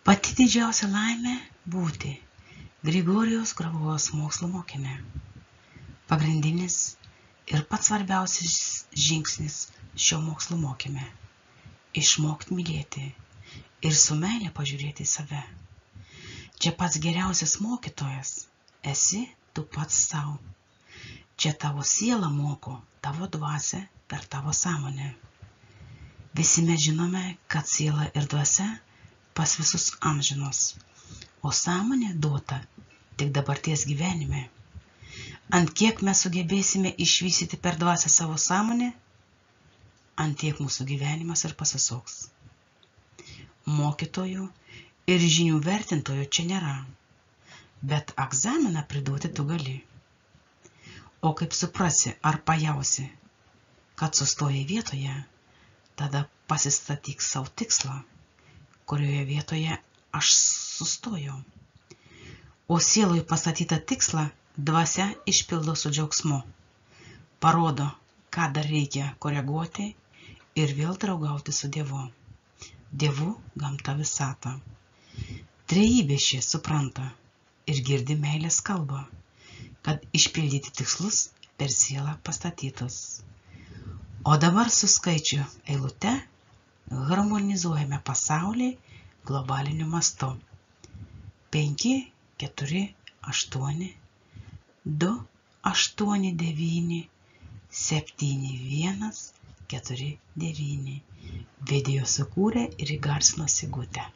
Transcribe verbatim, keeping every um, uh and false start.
Pati didžiausia laimė būti Grigorijaus Gravos mokslo mokinė. Pagrindinis ir pats svarbiausias žingsnis šio mokslo mokyme – išmokti mylėti ir su meile pažiūrėti į save. Čia pats geriausias mokytojas esi tu pats sau. Čia tavo siela moko tavo dvasią per tavo sąmonę. Visi mes žinome, kad siela ir dvasia pas visus amžinos, o sąmonė duota tik dabarties gyvenime. Ant kiek mes sugebėsime išvystyti per dvasią savo sąmonę, ant tiek mūsų gyvenimas ir pasisuks. Mokytojų ir žinių vertintojų čia nėra, bet egzaminą priduoti tu gali. O kaip suprasi ar pajausi, kad sustojai vietoje, tada pasistatyk savo tikslą, kurioje vietoje aš sustojau. O sielui pastatytą tikslą dvasia išpildo su džiaugsmu, parodo, ką dar reikia koreguoti ir vėl draugauti su Dievu. Dievu gamta visata. Trejybė šie supranta ir girdi meilės kalbą, kad išpildyti tikslus per sielą pastatytus. O dabar su skaičių eilute harmonizuojame pasaulį globaliniu mastu. penki, keturi, aštuoni, du, aštuoni, devyni, septyni, vienas, keturi, devyni. Video sukūrė ir įgarsino Sigutė.